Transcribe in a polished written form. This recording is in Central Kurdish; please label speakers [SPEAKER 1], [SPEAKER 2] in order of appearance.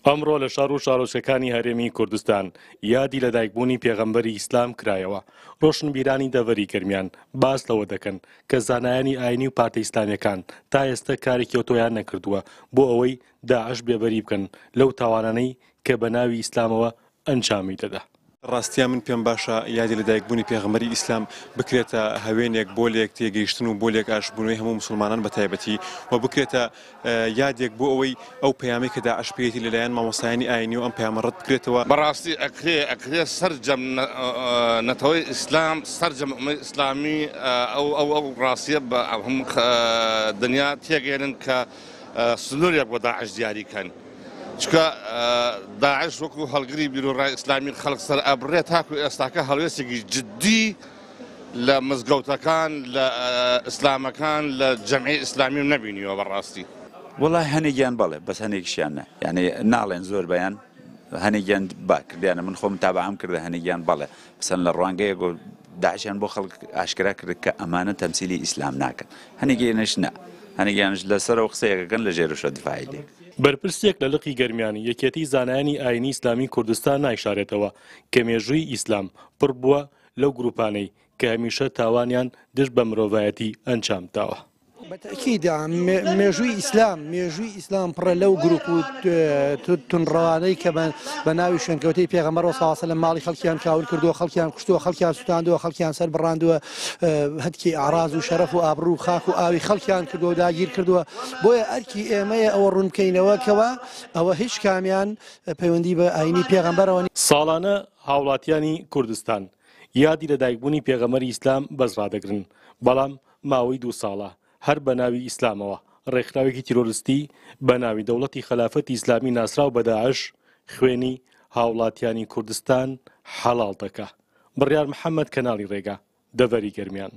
[SPEAKER 1] ئەمڕۆ لە شار و شارۆچکەکانی هەرێمی کوردستان یادی لەدایکبوونی پێغەمبەری ئیسلام کرایەوە. ڕۆشنبیرانی دەڤەری گەرمیان باس لەوە دەکەن کە زانایانی ئاینی و پارتە ئیسلامیەکان تا ئێستە کارێکی ئەوتۆیان نەکردووە بۆ ئەوەی داعش بێبەری بکەن لەو تاوانانەی کە بە ناوی ئیسلامەوە ئەنجامی دەدا.
[SPEAKER 2] ڕاستیا من پێم باشە یادی لەدایکبوونی پێغەمبەری ئیسلام بکرێتە هەوێنێک بۆ لێک تێگەیشتن و بۆ لێک ئاشتبوونەوەی هەموو موسڵمانان بە تایبەتی و بکرێتە یادێک بۆ ئەوەی ئەو پەیامەی کە داعش پێیەتی لەلایەن مامۆستایانی ئاینی و ئەم پەیامە ڕەت بکرێتەوە.
[SPEAKER 3] بەڕاستی ئەکرێ ئەکرێ سەرجەم نەتەوەی ئیسلام سەرجەم ئومەی ئیسلامی ئەو ئەو ئەو ڕاستیە بە هەموو دنیا تێگەیەنن کە سنوورێک بۆ داعش دیاری کەن. چونکە داعش وەکو هەڵگری بیروڕای ئیسلامی خەڵک سەر ئەبڕێ تاکو ئێستاکە هەڵوێستێکی جددی لە مزگەوتەکان لە ئیسلامەکان لە جەمعی ئیسلامی نەبینیوە بەڕاستی.
[SPEAKER 4] وەڵای هەنێکیان بەڵێ بەس هەنێکیشیان نا یانی ناڵێن زۆر بەیان هەنێکیان با کردیانە من خۆم تابعام کردە هەنێکیان بەڵێ بەسەن لە ڕوانگەیەک و داعشیان بۆ خەڵک ئاشکرا کرد کە ئەمانە تەمسیلی ئیسلام ناکەن هەنێکیانش نا هەنێکیانش لەسەرەوە قسەیەکەکەن لە ژێرشە دفاعی لێ
[SPEAKER 1] بەرپرسێک لە لقی گەرمیانی یەکێتی زانایانی ئاینی ئیسلامی کوردستان نایشارێتەوە کە مێژووی ئیسلام پڕ بووە لەو گروپانەی کە هەمیشە تاوانیان دژ بە مرۆڤایەتی ئەنجام داوە.
[SPEAKER 5] بە تەئکید مێژووی ئیسلام مێژووی ئیسلام پڕە لەو گروپ و توندڕەوانەی کە بە ناوی شوێنکەوتەی پێغەمبەر صلی الله علیه و سلم ماڵی خەڵکیان کاول کردووە، خەڵکیان کوشتووە، خەڵکیان سوتاندووە، خەڵکیان سەر بڕاندووە، هەتکی ئەعراز و شەرەف و ئابڕوو و خاک و ئاوی خەڵکیان کردووە و داگیر کردووە. بۆیە ئەرکی ئێمەیە ئەوە ڕوون بکەینەوە کەوا ئەوە هیچ کامیان پەیوەندی بە ئاینی پێغەمبەرەوە نییە.
[SPEAKER 1] ساڵانە هاوڵاتیانی کوردستان یادی لەدایکبوونی پێغەمبەری ئیسلام بەرز ڕادەگرن، بەڵام ماوەی دوو ساڵە هەر بە ناوی ئیسلامەوە ڕێکخراوێکی تیرۆرستی بە ناوی دەوڵەتی خەلافەتی ئیسلامی ناسراو بە داعش خوێنی هاوڵاتیانی کوردستان حەڵاڵ دەکا. بڕیار محەمەد کەناڵی ڕێگا، دەڤەری گەرمیان.